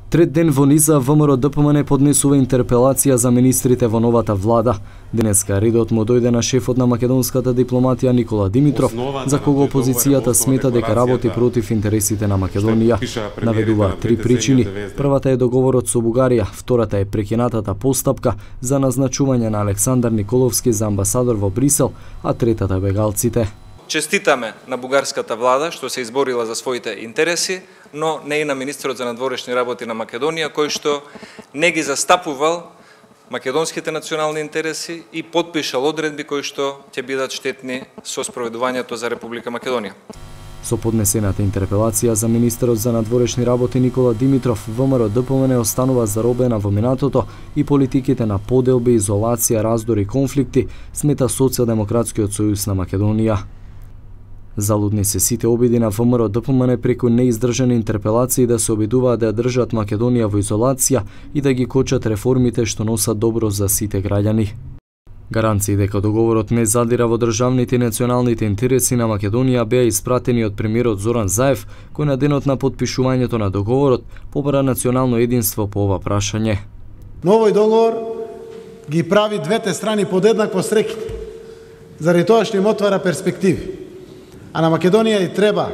Трет ден во низа ВМРО ДПМН поднесува интерпелација за министрите во новата влада. Денеска редот му дојде на шефот на македонската дипломатија Никола Димитров, за кого опозицијата смета дека работи против интересите на Македонија. Наведува три причини. Првата е договорот со Бугарија, втората е прекинатата постапка за назначување на Александар Николовски за амбасадор во Брисел, а третата бегалците. Честитаме на бугарската влада што се изборила за своите интереси, но не и на министерот за надворешни работи на Македонија, кој што не ги застапувал македонските национални интереси и подпишал одредби кои што ќе бидат штетни со спроведувањето за Република Македонија. Со поднесената интерпелација за министерот за надворешни работи Никола Димитров, ВМРО ДПМН останува заробена во минатото и политиките на поделби, изолација, раздори и конфликти, смета Социјалдемократскиот сојуз на Македонија. Залудни се сите обиди на ВМРО ДПМН преку неиздржани интерпелации да се обидуваат да ја држат Македонија во изолација и да ги кочат реформите што носат добро за сите граѓани. Гаранции дека договорот не задира во државните и националните интереси на Македонија беа испратени од премиерот Зоран Заев, кој на денот на подпишувањето на договорот побара национално единство по ова прашање. Но овој договор ги прави двете страни подеднакво среќни, заради тоа што им отвара перспективи. А на Македонија и треба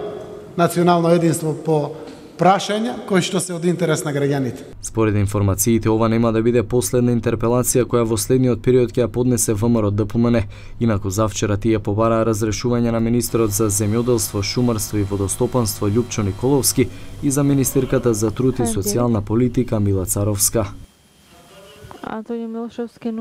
национално единство по прашања кои што се од интерес на граѓаните. Според информациите, ова нема да биде последна интерпелација која во следниот период ќе ја поднесе ВМРО ДПМН. Инаку завчера тие побараа разрешување на министерот за земјоделство, шумарство и водостопанство Љупчо Николовски и за министерката за труд и социјална политика Мила Царовска. Антонио Милошевски